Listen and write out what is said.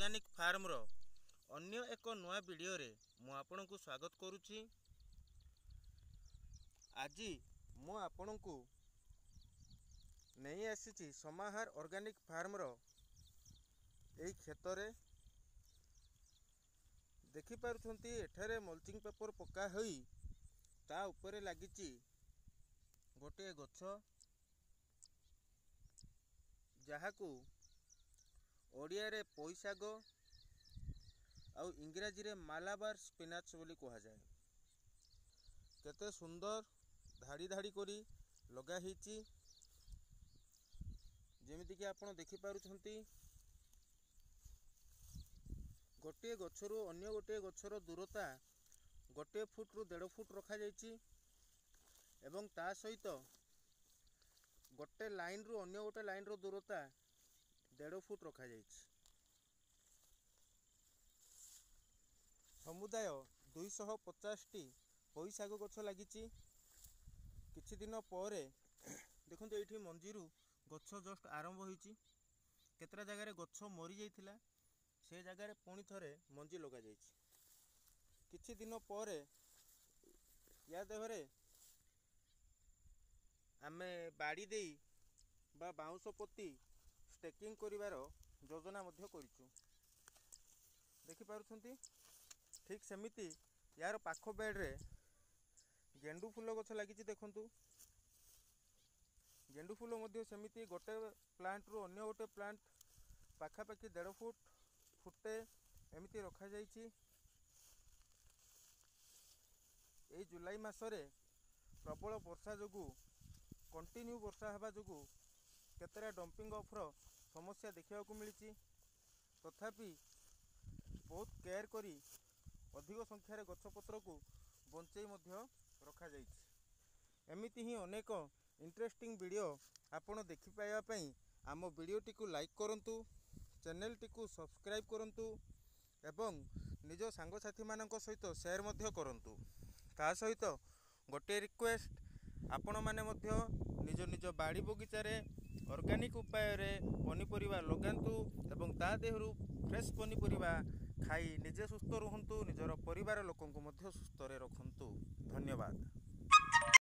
Organic ଫାର୍ମର ଅନ୍ୟ ଏକ ନୂଆ ଭିଡ଼ିଓରେ ମୁଁ ଆପଣଙ୍କୁ ସ୍ୱାଗତ କରୁଛି। ଆଜି ମୁଁ ଆପଣଙ୍କୁ ନେଇ ଆସିଛି ସମାହାର ଅର୍ଗାନିକ୍ ଫାର୍ମର ଏଇ କ୍ଷେତରେ। ଦେଖିପାରୁଛନ୍ତି ଏଠାରେ ମଲ୍ଚିଂ ପେପର ପକା ହୋଇ ତା ଉପରେ ଲାଗିଛି ଗୋଟିଏ ଗଛ, ଯାହାକୁ ଓଡ଼ିଆରେ ପୋଇଶାଗ ଆଉ ଇଂରାଜୀରେ ମାଲାବାର ସ୍ପିନାଚ୍ ବୋଲି କୁହାଯାଏ। କେତେ ସୁନ୍ଦର ଧାଡ଼ି ଧାଡ଼ି କରି ଲଗା ହେଇଛି, ଯେମିତିକି ଆପଣ ଦେଖିପାରୁଛନ୍ତି। ଗୋଟିଏ ଗଛରୁ ଅନ୍ୟ ଗୋଟିଏ ଗଛର ଦୂରତା 1 ଫୁଟରୁ 1.5 ଫୁଟ ରଖାଯାଇଛି ଏବଂ ତା ସହିତ ଗୋଟେ ଲାଇନ୍ରୁ ଅନ୍ୟ ଗୋଟେ ଲାଇନ୍ର ଦୂରତା 1.5 ଫୁଟ ରଖାଯାଇଛି। ସମୁଦାୟ 250ଟି ପୋଇଶାଗ ଗଛ ଲାଗିଛି। କିଛି ଦିନ ପରେ ଦେଖନ୍ତୁ ଏଇଠି ମଞ୍ଜିରୁ ଗଛ ଜଷ୍ଟ ଆରମ୍ଭ ହୋଇଛି। କେତେଟା ଜାଗାରେ ଗଛ ମରିଯାଇଥିଲା, ସେ ଜାଗାରେ ପୁଣି ଥରେ ମଞ୍ଜି ଲଗାଯାଇଛି। କିଛି ଦିନ ପରେ ୟା ଦେହରେ ଆମେ ବାଡ଼ି ଦେଇ ବା ବାଉଁଶ ପୋତି ଷ୍ଟେକିଂ କରିବାର ଯୋଜନା ମଧ୍ୟ କରିଛୁ। ଦେଖିପାରୁଛନ୍ତି, ଠିକ୍ ସେମିତି ୟାର ପାଖ ବେଡ଼ରେ ଗେଣ୍ଡୁ ଫୁଲ ଗଛ ଲାଗିଛି। ଦେଖନ୍ତୁ, ଗେଣ୍ଡୁ ଫୁଲ ମଧ୍ୟ ସେମିତି ଗୋଟେ ପ୍ଲାଣ୍ଟରୁ ଅନ୍ୟ ଗୋଟେ ପ୍ଲାଣ୍ଟ ପାଖାପାଖି 1.5 ଫୁଟ ଫୁଟେ ଏମିତି ରଖାଯାଇଛି। ଏଇ ଜୁଲାଇ ମାସରେ ପ୍ରବଳ ବର୍ଷା ଯୋଗୁଁ, କଣ୍ଟିନ୍ୟୁ ବର୍ଷା ହେବା ଯୋଗୁଁ କେତେଟା ଡମ୍ପିଂ ଅଫ୍ର ସମସ୍ୟା ଦେଖିବାକୁ ମିଳିଛି। ତଥାପି ବହୁତ କେୟାର କରି ଅଧିକ ସଂଖ୍ୟାରେ ଗଛପତ୍ରକୁ ବଞ୍ଚେଇ ମଧ୍ୟ ରଖାଯାଇଛି। ଏମିତି ହିଁ ଅନେକ ଇଣ୍ଟରେଷ୍ଟିଂ ଭିଡ଼ିଓ ଆପଣ ଦେଖିପାଇବା ପାଇଁ ଆମ ଭିଡ଼ିଓଟିକୁ ଲାଇକ୍ କରନ୍ତୁ, ଚ୍ୟାନେଲଟିକୁ ସବସ୍କ୍ରାଇବ୍ କରନ୍ତୁ ଏବଂ ନିଜ ସାଙ୍ଗସାଥିମାନଙ୍କ ସହିତ ସେୟାର ମଧ୍ୟ କରନ୍ତୁ। ତା ସହିତ ଗୋଟିଏ ରିକ୍ୱେଷ୍ଟ, ଆପଣମାନେ ମଧ୍ୟ ନିଜ ନିଜ ବାଡ଼ି ବଗିଚାରେ ଅର୍ଗାନିକ୍ ଉପାୟରେ ପନିପରିବା ଲଗାନ୍ତୁ ଏବଂ ତା ଦେହରୁ ଫ୍ରେଶ୍ ପନିପରିବା ଖାଇ ନିଜେ ସୁସ୍ଥ ରୁହନ୍ତୁ, ନିଜର ପରିବାର ଲୋକଙ୍କୁ ମଧ୍ୟ ସୁସ୍ଥରେ ରଖନ୍ତୁ। ଧନ୍ୟବାଦ।